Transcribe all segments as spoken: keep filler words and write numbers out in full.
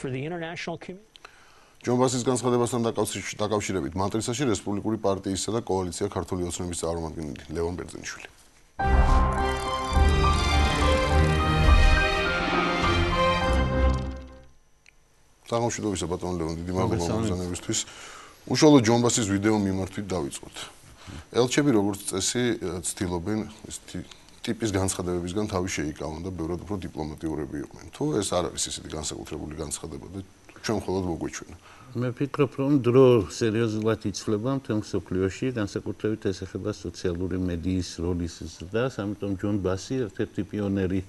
for the international community. ჯონბასის განცხადებასთან დაკავშირებით მანტრისაში რესპუბლიკური პარტიისა და კოალიცია ქართული ოცნების წარმომადგენელი ლევონ ბერძენიშვილი. სამშვიდობისა ბატონ ლევონ, დიდი მადლობა მოგზაურობისთვის. უშუალოდ ჯონბასის ვიდეო მიმართვით დავიწყოთ. ელჩები როგორც წესი ცდილობენ ეს ტიპის განცხადებებისგან თავი შეიკავონ და ბევრად უფრო დიპლომატიურები იყვნენ. თუ ეს არ არის ისეთი განსაკუთრებული განცხადება და ჩვენ მხოლოდ მოგვეჩვენა. მე ვფიქრობ, რომ დრო სერიოზულად იცვლება მთელ მსოფლიოში, განსაკუთრებით ეს ეხება სოციალური მედიის როლის ზრდას, ამიტომ ჯონ ბასი ერთ-ერთი პიონერი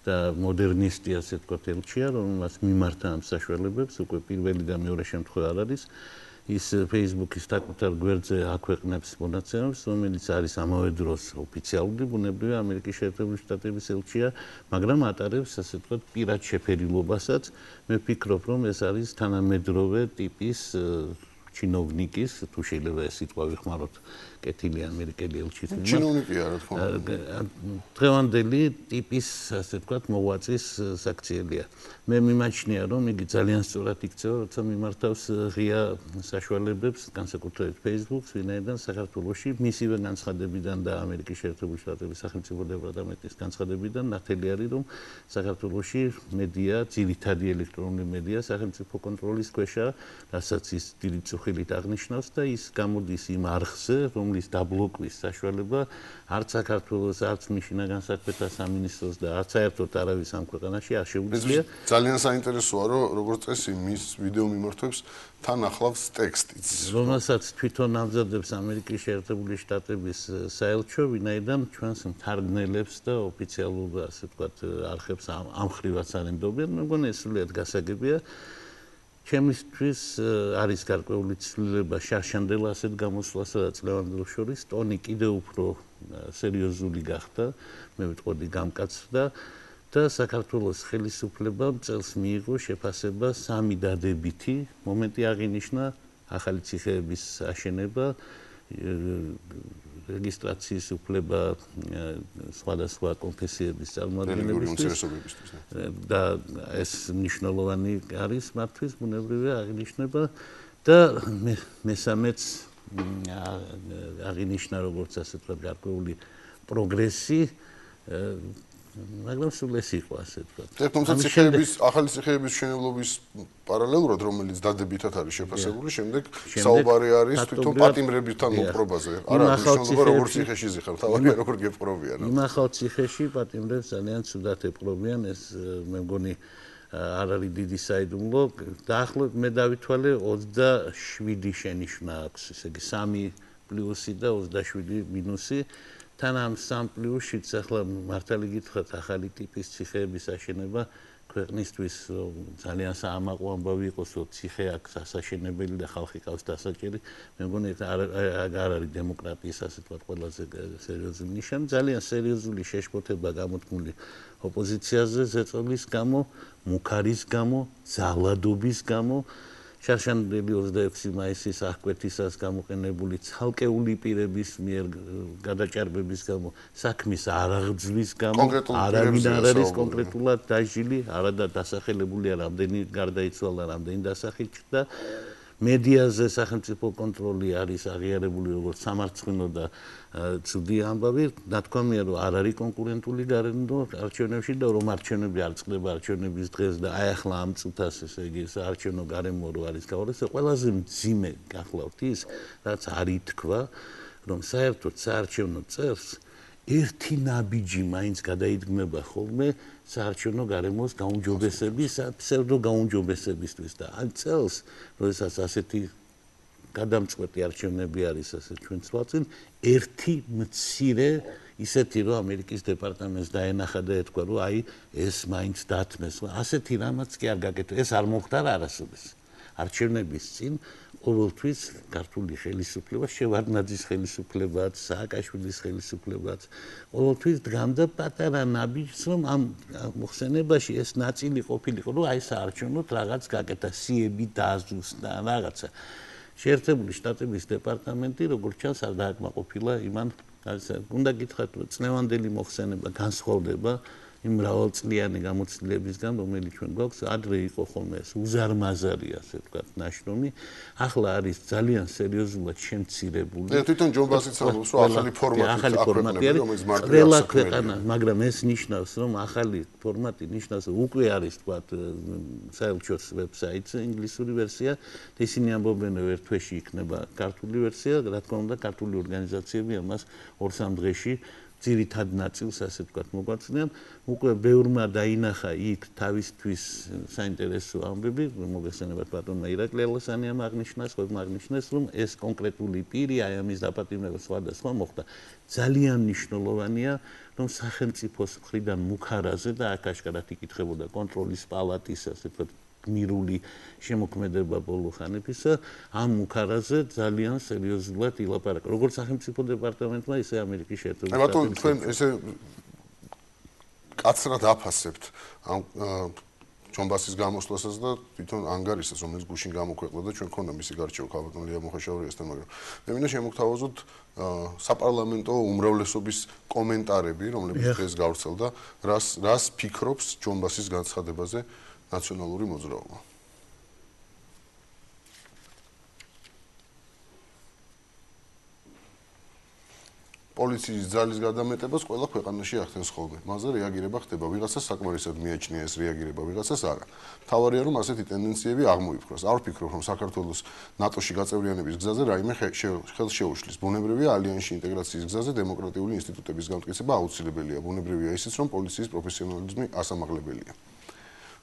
და მოდერნისტი, ასე ვთქვათ, ელჩია, რომელმაც მიმართა ამ საშუალებებს, უკვე პირველი და მეორე შემთხვევა არ არის. ის Facebook-ის საკუთარ გვერდზე აქვეყნებს მონაცემებს, რომელიც არის ამავე დროს ოფიციალური, ბუნებრივია ამერიკის შეერთებული შტატების ელჩია, მაგრამ ატარებს, ასე ვთქვათ, პირად შეფერილობასაც. მე ვფიქრობ, რომ ეს არის თანამედროვე ტიპის ჩინოვნიკის, თუ შეიძლება ეს სიტყვა ვიხმაროთ, კეთილი ამერიკელი ელჩის. ჩინოვნიკია, რა თქმა უნდა. დღევანდელი ტიპის, ასე ვთქვათ, მოღვაწის საქციელია. მე მიმაჩნია, რომ იგი ძალიან სწორად იქცევა, როცა მიმართავს ღია საშუალებებს, განსაკუთრებით Facebook-ს, ვინაიდან საქართველოში მისივე განცხადებიდან და ამერიკის შეერთებული შტატების სახელმწიფო დეპარტამენტის განცხადებიდან ნათელი არის, რომ საქართველოში მედია, ძირითადი ელექტრონული მედია სახელმწიფო კონტროლის ქვეშაა, რასაც ის დიდი წუხილით აღნიშნავს და ის გამოდის იმ არხზე, რომლის დაბლოკვის საშუალება არც საქართველოს, არც შინაგან საქმეთა სამინისტროს და არც საერთოდ არავის ამ ქვეყანაში არ შეუძლია. ძალიან საინტერესოა, რომ როგორც წესი მის ვიდეო მიმართვებს თან ახლავს ტექსტიც, რომელსაც თვითონ ამზადებს ამერიკის შეერთებული შტატების საელჩო, ვინაიდან ჩვენს მთარგმნელებს და ოფიციალურ, ასე ვთქვათ, არხებს ამ ხრივაც არ ენდობენ. მე მგონი ეს სრულიად გასაგებია. ჩემისთვის არის გარკვეული ცვლილება შარშანდელ ასეთ გამოსვლასა და წლევანდელს შორის ტონი კიდევ უფრო სერიოზული გახდა, მე ვიტყოდი გამკაცრდა და საქართველოს ხელისუფლებამ წელს მიიღო შეფასება სამი დადებითი მომენტი აღინიშნა ახალი ციხეების აშენება, რეგისტრაციის უფლება სხვადასხვა კონფესიების წარმომადგენლებისთვის და ეს მნიშვნელოვანი არის მათთვის, ბუნებრივია აღინიშნება და მესამეც აღინიშნა როგორც ასე ვთქვათ გარკვეული პროგრესი, მაგრამ სულ ეს იყო ასე ვთქვათ. თუმცა ციხეების, ახალი ციხეების მშენებლობის პარალელურად, რომელიც დადებითად არის შეფასებული, შემდეგ საუბარი არის თვითონ პატიმრებთან მოპყრობაზე. არა, მნიშვნელობა როგორც ციხეში ზიხარ, თავი როგორ გეპყრობიან. იმ ახალ ციხეში პატიმრებს ძალიან ცუდად ეპყრობიან, ეს მე მგონი არ არის დიდი საიდუმლო. დაახლოებით მე დავითვალე ოცდაშვიდი შენიშვნა აქვს, ესე იგი სამი პლუსი და ოცდაშვიდი მინუსი. თან ამ სამ პლუსშიც ახლა მართალი გითხრათ, ახალი ტიპის ციხეების აშენება ქვეყნისთვის ძალიან საამაყო ამბავი იყოს, რომ ციხე აქვს ასაშენებელი და ხალხი ყავს დასაჭერი. მე მგონი არ არის დემოკრატიის, ასე ვთქვათ, ყველაზე სერიოზული ნიშანი. ძალიან სერიოზული შეშფოთება გამოთქმული ოპოზიციაზე ზეწოლის გამო, მუქარის გამო, ძალადობის გამო. შარშანდელი ოცდაექვსი მაისის აღკვეთისას გამოყენებული ცალკეული პირების მიერ გადაჭარბების გამო, საქმის არაღძვის გამო, არავინ არ არის კონკრეტულად დაჟილი, არადა დასახელებულია, რამდენი გარდაიცვალა, რამდენი დასახით და მედიაზე სახელმწიფო კონტროლი არის აღიარებული როგორც სამარცხვინო და ცუდი ამბავი. ნათქვამია, რომ არ არის კონკურენტული გარემო არჩევნებში და რომ არჩევნები არ წყდება არჩევნების დღეს და აი ახლა ამ წუთას, ესე იგი, საარჩევნო გარემო რო არის გაურეს, ყველაზე მძიმე გახლავთ ის, რაც არ ითქვა, რომ საერთოდ საარჩევნო წელს ერთი ნაბიჯი მაინც გადაიდგმება ხოლმე საარჩევნო გარემოს გაუმჯობესების, ფსევდო გაუმჯობესებისთვის და ამ წელს, როდესაც ასეთი გადამწყვეტი არჩევნები არის ასე ჩვენ ცვალწინ, ერთი მცირე ისეთი რომ ამერიკის დეპარტამენტს დაენახა და ეთქვა, რომ აი ეს მაინც დათმეს. ასეთი რამაც კი არ გაკეთდა, ეს არ მოხდა არასოდეს. არჩევნების წინ ყოველთვის ქართული ხელისუფლება, შევარდნაძის ხელისუფლებაც, სააკაშვილის ხელისუფლებაც, ყოველთვის დგამდა პატარა ნაბიჯს, რომ ამ მოხსენებაში ეს ნაწილი ყოფილიყო, რომ აი საარჩევნოდ რაღაც გაკეთა, სიები დააზუსტა, რაღაცა. შეერთებული შტატების დეპარტამენტი, როგორც ჩანს, არ დააკმაყოფილა იმან, უნდა გითხრათ, წლევანდელი მოხსენება განსხვავდება იმ მრავალწლიანი გამოცდილებისგან, რომელიც ჩვენ გვაქვს, ადრე იყო ხოლმე ეს უზარმაზარი, ასე ვთქვათ, ნაშრომი, ახლა არის ძალიან სერიოზულად შემცირებული. და თვითონ ჯონ ბასიც ამბობს, რომ ახალი ფორმატი აქვეყნები, რომელიც ყველა ქვეყანა, მაგრამ ეს ნიშნავს, რომ ახალი ფორმატი ნიშნავს, რომ უკვე არის, ვთქვათ, საელჩოს ვებსაიტზე ინგლისური ვერსია, და ისინი ამბობენ, რომ ერთ თვეში იქნება ქართული ვერსია, რა თქმა უნდა, ქართული ორგანიზაციები ამას ორ-სამ დღეში ძირითად ნაწილს, ასე ვთქვათ, მოგვაწვდიან. უკვე ბევრმა დაინახა იქ თავისთვის საინტერესო ამბები, მოგესალმებით ბატონმა ირაკლი ალასანიამ აღნიშნას, ხომ აღნიშნეს, რომ ეს კონკრეტული პირი აი ამის დაპატიმრება სხვადასხვა მოხდა. ძალიან მნიშვნელოვანია, რომ სახელმწიფოს მხრიდან მუქარაზე და აქ აშკარად იკითხებოდა კონტროლის პალატის, ასე ვთქვათ, გმირული შემოქმედება ბოლო ხანებისა, ამ მუქარაზე ძალიან სერიოზულად ილაპარაკა. როგორც სახელმწიფო დეპარტამენტმა, ისე ამერიკის შეერთებული შტატების. ბატონო, თქვენ ესე კაცრად აფასებთ ამ ჯონ ბასის გამოსვლასაც და თვითონ ანგარიშსაც, რომელიც გუშინ გამოქვეყნდა და ჩვენ ქონდა მისი გარჩევა ქალბატონ ლია მოხეშაურიასთან, მაგრამ მე მინდა შემოგთავაზოთ საპარლამენტო უმრავლესობის კომენტარები, რომლებიც დღეს გავრცელდა, რას რას ფიქრობს ჯონ ბასის განცხადებაზე ნაციონალური მოძრაობა. პოლიციის ძალის გადამეტებას ყველა ქვეყანაში ახდენს ხოლმე. მასზე რეაგირება ხდება, ვიღაცას საკმარისად მიაჩნია ეს რეაგირება, ვიღაცას არა. მთავარია რომ ასეთი ტენდენციები აღმოიფხვრას. არ ვფიქრობ რომ საქართველოს ნატოში გაწევრიანების გზაზე რაიმე ხელს შეუშლის. ბუნებრივია ალიანსში ინტეგრაციის გზაზე დემოკრატიული ინსტიტუტების გამტკიცება აუცილებელია. ბუნებრივია ისიც რომ პოლიციის პროფესიონალიზმი ასამაღლებელია.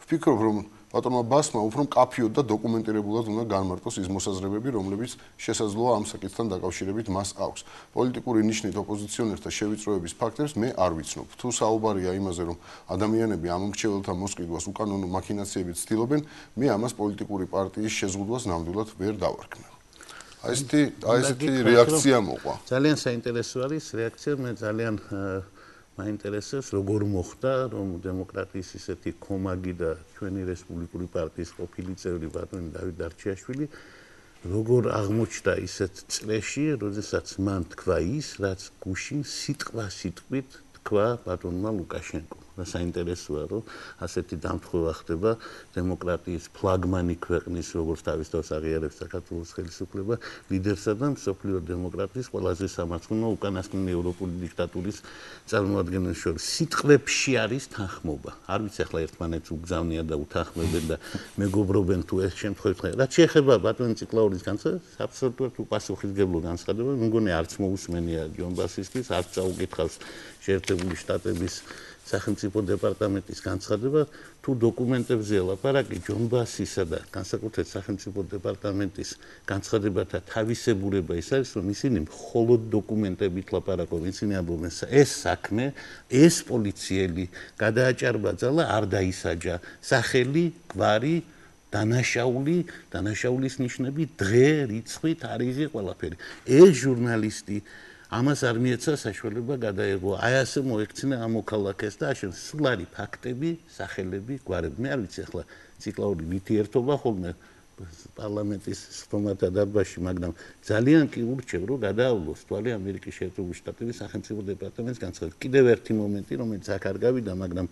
ვფიქრობ რომ ბატონმა ბასმა უფრო მკაფიოდ და დოკუმენტირებულად უნდა განმარტოს ის მოსაზრებები, რომლებიც შესაძლოა ამ საკითხთან დაკავშირებით მას აქვს. პოლიტიკური ნიშნით ოპოზიციონერთა შევიწროების ფაქტებს მე არ ვიცნობ. თუ საუბარია იმაზე, რომ ადამიანები ამ მრჩეველთა მოსყიდვას უკანონო მაქინაციებით ცდილობენ, მე ამას პოლიტიკური პარტიის შეზღუდვას ნამდვილად ვერ დავარქმევ. აი ესეთი აი ესეთი რეაქცია მოყვა. ძალიან საინტერესო არის რეაქცია, მე ძალიან მაინტერესებს როგორ მოხდა რომ დემოკრატიის ისეთი კომაგი და ჩვენი რესპუბლიკური პარტიის ყოფილი წევრი ბატონი დავით დარჩიაშვილი როგორ აღმოჩნდა ისეთ წრეში, როდესაც მან თქვა ის, რაც გუშინ სიტყვა სიტყვით თქვა ბატონმა ლუკაშენკომ. და საინტერესოა რომ ასეთი დამთხოვა ხდება დემოკრატიის ფლაგმანი ქვეყნის როგორც თავის თავს აღიარებს საქართველოს ხელისუფლება ლიდერსა და მსოფლიო დემოკრატიის ყველაზე სამარცხინო უკანასკნელი ევროპული დიქტატურის წარმომადგენლებს შორის სიტყვებში არის თანხმობა. არ ვიცი ახლა ერთმანეთს უგზავნია და უთანხმებენ და მეგობრობენ თუ ეს შემთხვევით ხარ. რაც შეეხება ბატონი ციკლაურის განცხადებას, აბსოლუტურად უპასუხისმგებლო განცხადება, მე მგონი არც მოусმენია ჯონ ბასისთვის, არც წაუკითხავს შეერთებული შტატების სახელმწიფო დეპარტამენტის განცხადება, თუ დოკუმენტებზეა ლაპარაკი ჯონ ბასისა და განსაკუთრებით სახელმწიფო დეპარტამენტის განცხადებათა თავისებურება ის არის, რომ ისინი მხოლოდ დოკუმენტებით ლაპარაკობენ, ისინი ამბობენ, ეს საქმე, ეს პოლიციელი გადააჭარბაძალა, არ დაისაჯა, სახელი, გვარი, დანაშაული, დანაშაულის ნიშნები, დღე, რიცხვი, თარიღი, ყველაფერი. ეს ჟურნალისტი ამას არ მიეცა საშუალება გადაეღო. აი ასე მოექცინა ამ მოქალაქეს და აშენ სულ არის ფაქტები, სახელები, გვარები. მე არ ვიცი ახლა ციკლაური ვითი ერთობა ხოლმე პარლამენტის სხდომათა დარბაზში, მაგრამ ძალიან კი ურჩევ, რომ გადაავლოს თვალი ამერიკის შეერთებული შტატების სახელმწიფო დეპარტამენტის განცხადებით. კიდევ ერთი მომენტი, რომელიც აქ არ გავიდა, მაგრამ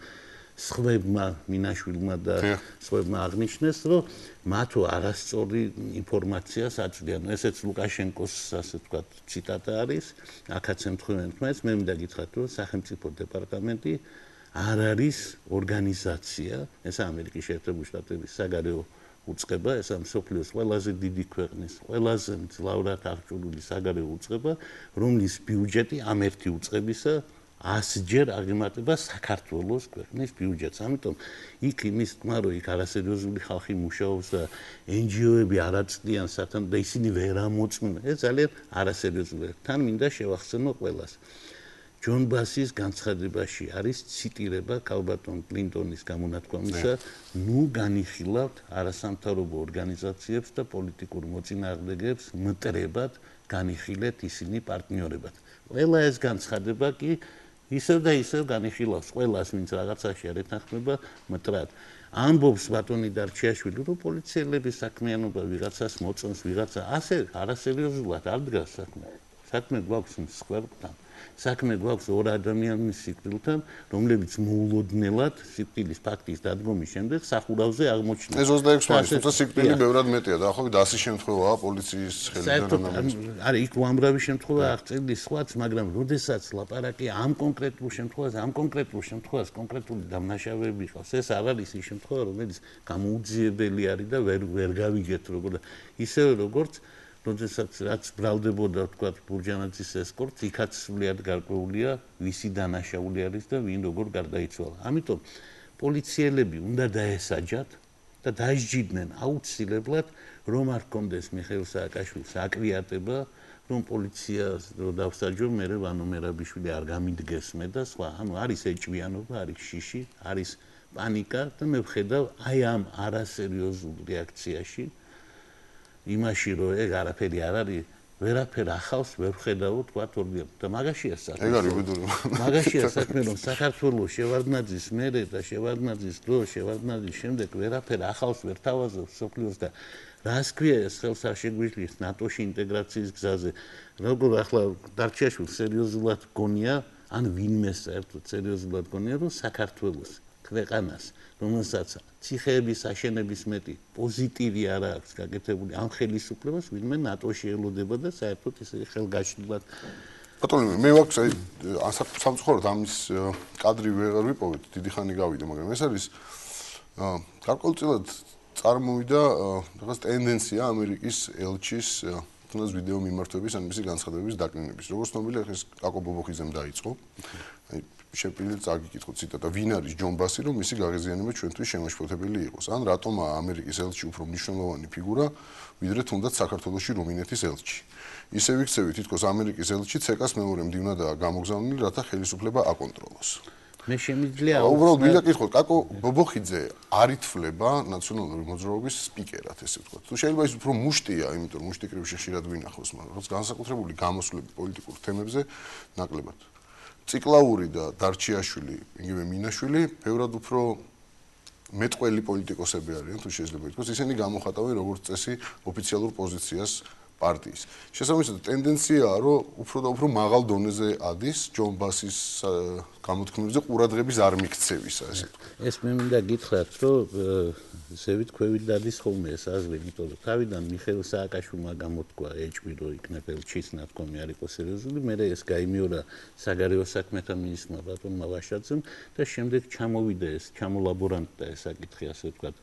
სხვებმა მინაშვილმა და სხვებმა აღნიშნეს, რომ მათო არასწორი ინფორმაციას აწვდიან. ესეც ლუკაშენკოს, ასე ვთქვათ, ციტატა არის. აქაც ემთხვევენ თმას, მე მინდა გითხრათ, რომ სახელმწიფო დეპარტამენტი არ არის ორგანიზაცია, ეს ამერიკის შეერთებული შტატების საგარეო უწყება, ეს მსოფლიოს ყველაზე დიდი ქვეყნის, ყველაზე მძლავრად აღჭურვილი საგარეო უწყება, რომლის ბიუჯეტი ამ ერთი უწყებისა ასჯერ აღემატება საქართველოს ქვეყნის ბიუჯეტს. ამიტომ იქ იმის თქმა, რომ იქ არასერიოზული ხალხი მუშაობს და ენ ჯი ო-ები არ აწვდიან სათანადო და ისინი ვერ ამოწმენ. ეს ძალიან არასერიოზულია. თან მინდა შევახსენო ყველას. ჯონ ბასის განცხადებაში არის ციტირება ქალბატონ კლინტონის გამონათქვამისა, ნუ განიხილავთ არასამთავრობო ორგანიზაციებს და პოლიტიკურ მოწინააღმდეგეებს მტრებად განიხილეთ ისინი პარტნიორებად. ყველა ეს განცხადება კი ისევ და ისევ განიხილავს ყველას, ვინც რაღაცაში არ ეთანხმება მტრად. ამბობს ბატონი დარჩიაშვილი, რომ პოლიციელების საქმიანობა ვიღაცას მოწონს, ვიღაცა ასე არასერიოზულად არ დგას საქმე. საქმე გვაქვს მსხვერპლთან. საქმე გვაქვს ორ ადამიანის სიკვდილთან, რომლებიც მოულოდნელად სიკვდილის ფაქტის დადგომის შემდეგ სახურავზე აღმოჩნდნენ. ეს ოცდაექვსი მაისს, თუმცა სიკვდილი ბევრად მეტია, დაახლოებით ასი შემთხვევაა პოლიციის ხელიდან ამის. არის იქ უამრავი შემთხვევა აღწერილი სხვაც, მაგრამ როდესაც ლაპარაკი ამ კონკრეტულ შემთხვევაზე, ამ კონკრეტულ შემთხვევას კონკრეტული დამნაშავეები ყავს, ეს არ არის ის შემთხვევა, რომელიც გამოუძიებელი არის და ვერ ვერ გავიგეთ როგორ და ისევე როგორც როდესაც რაც ბრალდებოდა თქვა ბურჯანაძის ესკორტს, იქაც სრულიად გარკვეულია ვისი დანაშაული არის და ვინ როგორ გარდაიცვალა. ამიტომ პოლიციელები უნდა დაესაჯათ და დაესჯიდნენ აუცილებლად რომ არ კონდეს მიხეილ სააკაშვილის აკრიატება, რომ პოლიციას რო დავსაჯო, მე ვანო მერაბიშვილი არ გამიდგეს მე და სხვა. ანუ არის ეჭვიანობა, არის შიში, არის პანიკა და მე ვხედავ აი ამ არასერიოზულ რეაქციაში იმაში რომ ეგ არაფერი არ არის, ვერაფერ ახავს ვერ ვხედავ თქვა თორბიან და მაგაშია საქმე. ეგ არის ბედური. მაგაშია საქმე რომ საქართველოს შევარდნაძის მერე და შევარდნაძის დრო, შევარდნაძის შემდეგ ვერაფერ ახავს ვერ თავაზობს სოფლიოს და რას ქვია ეს ხელს არ შეგვიძლია ნატოში ინტეგრაციის გზაზე. როგორ ახლა დარჩიაშვილ სერიოზულად გონია, ან ვინმე საერთოდ სერიოზულად გონია რომ საქართველოს ქვეყანას, რომელსაც ციხეების აშენების მეტი პოზიტივი არ აქვს გაკეთებული ამ ხელისუფლებას, ვინმე ნატოში ელოდება და საერთოდ ისე ხელგაშლილად. ბატონო, მე ვაქვს აი სამწუხაროდ ამის კადრი ვეღარ ვიპოვეთ, დიდი ხანი გავიდა, მაგრამ ეს არის გარკვეულწილად წარმოვიდა რაღაც ტენდენცია ამერიკის ელჩის თუნდაც ვიდეო მიმართვების ან მისი განცხადებების დაკნინების. როგორც ცნობილია, ეს კაკო ბობოხიძემ დაიწყო. აი შეპირილ წაგიკითხოთ ციტატა, ვინ არის ჯონ ბასი, რომ მისი გაღიზიანება ჩვენთვის შემაშფოთებელი იყოს? ან რატომაა ამერიკის ელჩი უფრო მნიშვნელოვანი ფიგურა, ვიდრე თუნდაც საქართველოში რუმინეთის ელჩი? ისე ვიქცევით, თითქოს ამერიკის ელჩი ცეკას მეორე მდივნადაა გამოგზავნილი, რათა ხელისუფლება აკონტროლოს. მე შემიძლია უბრალოდ მინდა გითხოთ, კაკო ბობოხიძე არ ითვლება ნაციონალური მოძრაობის სპიკერად, ესე ვთქვათ. თუ შეიძლება ის უფრო მუშტია, იმიტომ რომ მუშტი კრივში ხშირად ვინახავს, მაგრამ რაც განსაკუთრებული გამოსვლები პოლიტიკურ თემებზე ნაკლებად. ციკლაური და დარჩიაშვილი, იგივე მინაშვილი, ბევრად უფრო მეტყველი პოლიტიკოსები არიან, თუ შეიძლება ითქვას, ისინი გამოხატავენ როგორც წესი ოფიციალურ პოზიციას პარტიის. შესაბამისად, ტენდენციაა, რომ უფრო და უფრო მაღალ დონეზე ადის ჯონ ბასის გამოთქმებზე ყურადღების არ მიქცევისა, ესე ვთქვათ. ეს მე მინდა გითხრათ, რომ ზევით ქვევით დადის ხოლმე ეს აზრი, იმიტომ რომ თავიდან მიხეილ სააკაშვილმა გამოთქვა ეჭვი, რომ იქნებ ელჩის ნათქვამი არ იყოს სერიოზული, მერე ეს გაიმეორა საგარეო საქმეთა მინისტრმა ბატონმა ვაშაძემ და შემდეგ ჩამოვიდა ეს, ჩამოლაბორანტდა ეს საკითხი, ასე ვთქვათ,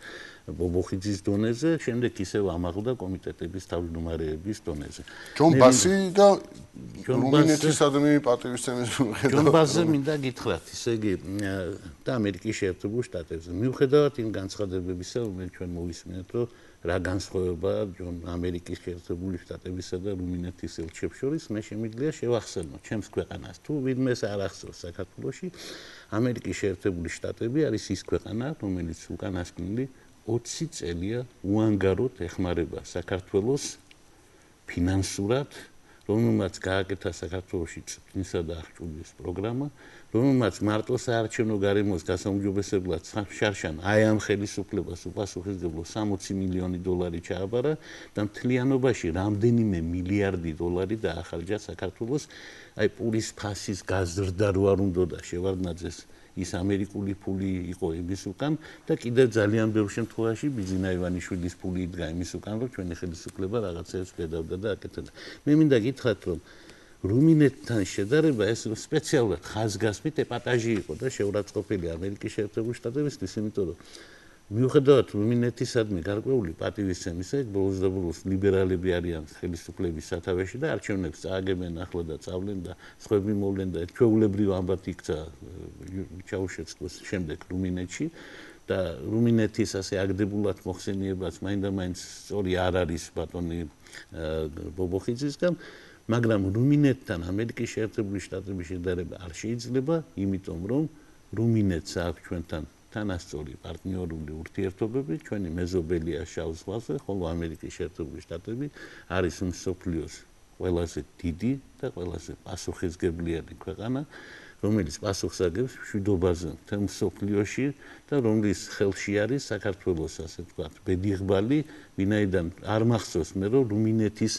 ბობოხიძის დონეზე, შემდეგ ისევ ამაღლდა კომიტეტების თავმჯდომარეების დონეზე. ჯონ ბასი და რუმინეთისადმი პატივისცემის მიხედვით. ჯონ ბასზე მინდა გითხრათ, ისე იგი და ამერიკის შეერთებულ შტატებზე. მიუხედავად იმ განცხადებებისა, რომელიც ჩვენ მოვისმენთ, რომ რა განსხვავებაა ჯონ ამერიკის შეერთებული შტატებისა და რუმინეთის ელჩებს შორის, მე შემიძლია შევახსენო ჩემს ქვეყანას. თუ ვინმეს არ ახსოვს საქართველოში, ამერიკის შეერთებული შტატები არის ის ქვეყანა, რომელიც უკანასკნელი ოცი წელია უანგაროდ ეხმარება საქართველოს ფინანსურად, რომელმაც გააკეთა საქართველოში წვდისა და აღჭურვილის პროგრამა, რომელმაც მარტო საარჩევნო გარემოს გასაუმჯობესებლად შარშან აი ამ ხელისუფლებას უპასუხისმგებლო სამოცი მილიონი დოლარი ჩააბარა და მთლიანობაში რამდენიმე მილიარდი დოლარი დაახარჯა საქართველოს აი პურის ფასის გაზრდა რო არ უნდოდა შევარდნაძეს ის ამერიკული ფული იყო იმის უკან და კიდევ ძალიან ბევრ შემთხვევაში ბიძინა ივანიშვილის ფული იდგა იმის უკან, რომ ჩვენი ხელისუფლება რაღაცებს გადავდა და აკეთებდა. მე მინდა გითხრათ, რომ რუმინეთთან შედარება ეს სპეციალურად ხაზგასმით ეპატაჟი იყო და შეურაცხყოფილი ამერიკის შეერთებული შტატებისთვის, იმიტომ რომ მიუხედავად რუმინეთისადმი გარკვეული პატივისცემისა, ეგ ბოლოს და ბოლოს ლიბერალები არიან ხელისუფლების სათავეში და არჩევნებს წააგებენ ახლა და წავლენ და სხვები მოვლენ და ჩვეულებრივ ამბად იქცა ჩაუშეცკოს შემდეგ რუმინეთში და რუმინეთის ასე აგდებულად მოხსენიებაც მაინდა-მაინც სწორი არ არის ბატონი ბობოხიძისგან, მაგრამ რუმინეთთან ამერიკის შეერთებული შტატების შედარება არ შეიძლება, იმიტომ რომ რუმინეთს აქვს ჩვენთან თანასწორი პარტნიორული ურთიერთობები, ჩვენი მეზობელია შავ ზღვაზე, ხოლო ამერიკის შეერთებული შტატები არის მსოფლიოს ყველაზე დიდი და ყველაზე პასუხისმგებლიანი ქვეყანა, რომელიც პასუხს აგებს მშვიდობაზე მთელ მსოფლიოში და რომლის ხელში არის საქართველოს, ასე ვთქვათ, ბედიღბალი, ვინაიდან არ მახსოვს მე, რომ რუმინეთის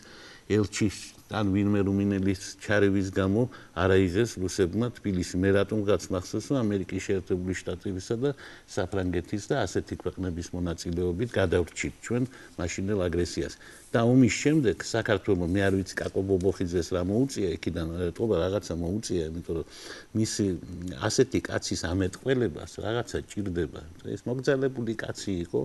ელჩის ან ვინმე რუმინელის ჩარევის გამო არ აიღეს რუსებმა თბილისი. მე რატომ გაც მახსოვს, რომ ამერიკის შეერთებული შტატებისა და საფრანგეთის და ასეთი ქვეყნების მონაწილეობით გადავრჩით ჩვენ მაშინდელ აგრესიას. და ომის შემდეგ საქართველოს მე არ ვიცი კაკო ბობოხიძეს რა მოუწია იქიდან ეტყობა რაღაცა მოუწია, იმიტომ რომ მისი ასეთი კაცის ამეტყველებას რაღაცა ჭირდება. ეს მოგზალებული კაცი იყო.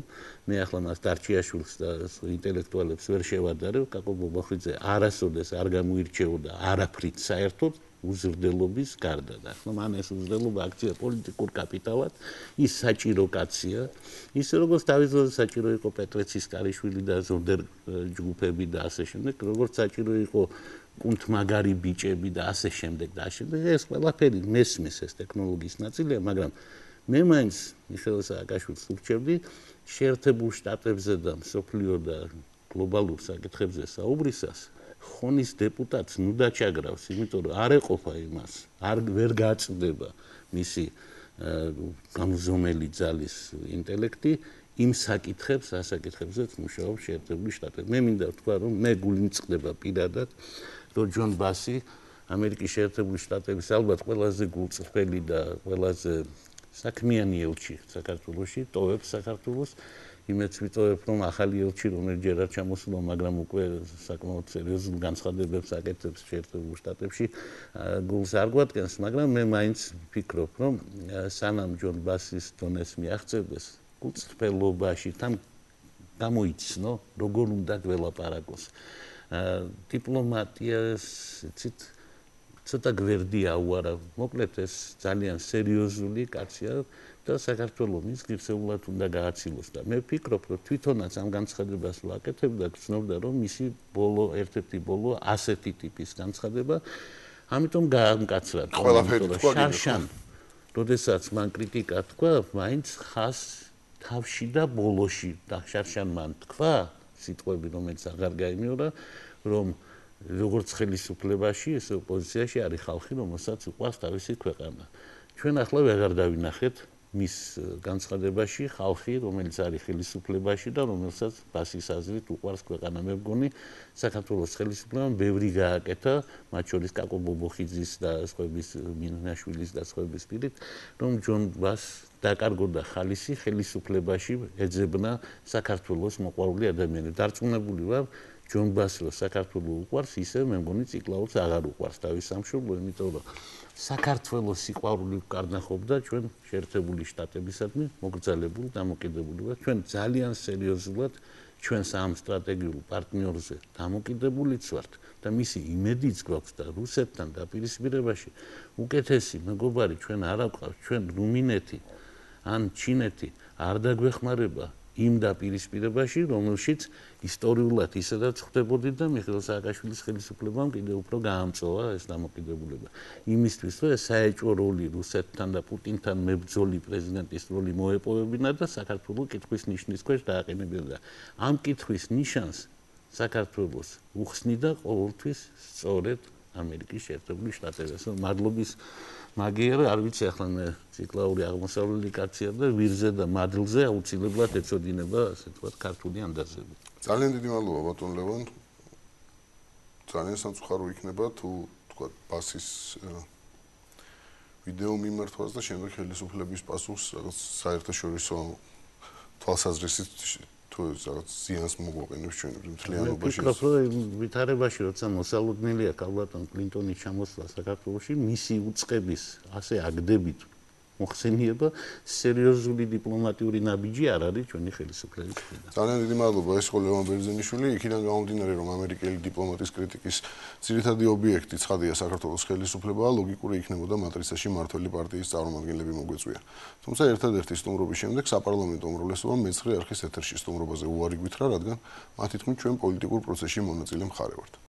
მე ახლა მას დარჩიაშვილს და ინტელექტუალებს ვერ შევადარებ, კაკო ბობოხიძე არასოდეს არ გამოირჩეოდა არაფრით საერთოდ უზრდელობის გარდა და ახლა მან ეს უზრდელობა აქცია პოლიტიკურ კაპიტალად, ის საჭირო კაცია, ისე როგორც თავის დროზე საჭირო იყო პეტრეცის კარიშვილი და ზონდერ ჯგუფები და ასე შემდეგ, როგორც საჭირო იყო კუნთმაგარი ბიჭები და ასე შემდეგ და ასე შემდეგ, ეს ყველაფერი მესმის ეს ტექნოლოგიის ნაწილია, მაგრამ მე მაინც მიხეილ სააკაშვილს ურჩევდი შეერთებულ შტატებზე და მსოფლიო და გლობალურ საკითხებზე საუბრისას ხონის დეპუტატს ნუ დაჩაგრავს, იმიტომ რომ არ ეყოფა იმას, არ ვერ გაწდება მისი გამზომელი ძალის ინტელექტი იმ საკითხებს, ასაკითხებზეც მუშაობს შეერთებული შტატები. მე მინდა ვთქვა, რომ მე გული მწყდება პირადად, რომ ჯონ ბასი ამერიკის შეერთებული შტატების ალბათ ყველაზე გულწრფელი და ყველაზე საქმიანი ელჩი საქართველოში, ტოვებს საქართველოს. იმეც ვიტოვებ, რომ ახალი ელჩი რომელიც ჯერ არ ჩამოსულა, მაგრამ უკვე საკმაოდ სერიოზულ განცხადებებს აკეთებს შეერთებულ შტატებში, გულს არ გვადგენს, მაგრამ მე მაინც ვფიქრობ, რომ სანამ ჯონ ბასის დონეს მიაღწევდეს, გულწრფელობაში თან გამოიცნო, როგორ უნდა გველაპარაკოს. დიპლომატიას ცით ცოტა გვერდი აუარა. მოკლედ ეს ძალიან სერიოზული კაცია და საქართველოს მის ღირსეულად უნდა გააცილოს და მე ვფიქრობ, რომ თვითონაც ამ განცხადებას ვაკეთებდა, გრძნობდა, რომ მისი ბოლო ერთ-ერთი ბოლო ასეთი ტიპის განცხადება, ამიტომ გაამკაცრა. შარშან, როდესაც მან კრიტიკა თქვა, მაინც ხას თავში და ბოლოში და შარშან მან თქვა სიტყვები, რომელიც აღარ გაიმეორა, რომ როგორც ხელისუფლებაში, ესე ოპოზიციაში არის ხალხი, რომელსაც უყვარს თავისი ქვეყანა. ჩვენ ახლა ვეღარ დავინახეთ მის განცხადებაში ხალხი, რომელიც არის ხელისუფლებაში და რომელსაც ბასის აზრით უყვარს ქვეყანა. მე მგონი, საქართველოს ხელისუფლებამ ბევრი გააკეთა, მათ შორის კაკო ბობოხიძის და სხვების მინაშვილის და სხვების პირით, რომ ჯონ ბასს დაკარგოდა ხალისი ხელისუფლებაში ეძებნა საქართველოს მოყვარული ადამიანები. დარწმუნებული ვარ, ჯონ ბასს რო საქართველოს უყვარს, ისე მე მგონი ციკლაურს აღარ უყვარს თავის სამშობლო, იმიტომ რომ საქართველოს სიყვარული ვკარნახობდა ჩვენ შეერთებული შტატებისადმი მოგრძალებულ დამოკიდებულებას. ჩვენ ძალიან სერიოზულად ჩვენს ამ სტრატეგიულ პარტნიორზე დამოკიდებულიც ვართ და მისი იმედიც გვაქვს და რუსეთთან დაპირისპირებაში უკეთესი მეგობარი ჩვენ არ აგვყავს, ჩვენ რუმინეთი ან ჩინეთი არ დაგვეხმარება იმ დაპირისპირებაში, რომელშიც ისტორიულად ისედაც ხვდებოდით და მიხეილ სააკაშვილის ხელისუფლებამ კიდევ უფრო გაამწოვა ეს დამოკიდებულება. იმისთვის, რომ ეს საეჭვო როლი რუსეთთან და პუტინთან მებრძოლი პრეზიდენტის როლი მოეპოვებინა და საქართველოს კითხვის ნიშნის ქვეშ დააყენებინა. ამ კითხვის ნიშანს საქართველოს უხსნიდა ყოველთვის სწორედ ამერიკის შეერთებული შტატები. მადლობის მაგიერ არ ვიცი ახლა მე ციკლაური აღმოსავლელი კაცია და ვირზე და მადლზე აუცილებლად ეწოდინება ასე თქვა ქართული ანდაზები. ძალიან დიდი მადლობა ბატონ ლევან. ძალიან სამწუხარო იქნება თუ თქვა ბასის ვიდეო მიმართვას და შემდეგ ხელისუფლების პასუხს რაღაც საერთაშორისო თვალსაზრისით თუ რაღაც ზიანს მოგვაყენებს ჩვენ მთლიანობაში. ვფიქრობ, რომ ვითარებაში როცა მოსალოდნელი აქვს ალბათ კლინტონის ჩამოსვლა საქართველოში, მისი უწყების ასე აგდებით მოხსენიება სერიოზული დიპლომატიური ნაბიჯი არ არის ჩვენი ხელისუფლების მხრიდან. ძალიან დიდი მადლობა, ეს იყო ლევან ბერძენიშვილი. იქიდან გამომდინარე, რომ ამერიკელი დიპლომატის კრიტიკის ძირითადი ობიექტი ცხადია საქართველოს ხელისუფლებაა, ლოგიკური იქნებოდა მატრიცაში მმართველი პარტიის წარმომადგენლები მოგვეწვია. თუმცა ერთადერთი სტუმრობის შემდეგ საპარლამენტო უმრავლესობამ მეცხრე არხის ეთერში სტუმრობაზე უარი გვითხრა, რადგან მათი თქმით ჩვენ პოლიტიკურ პროცესში მონაწილე მხარე ვართ.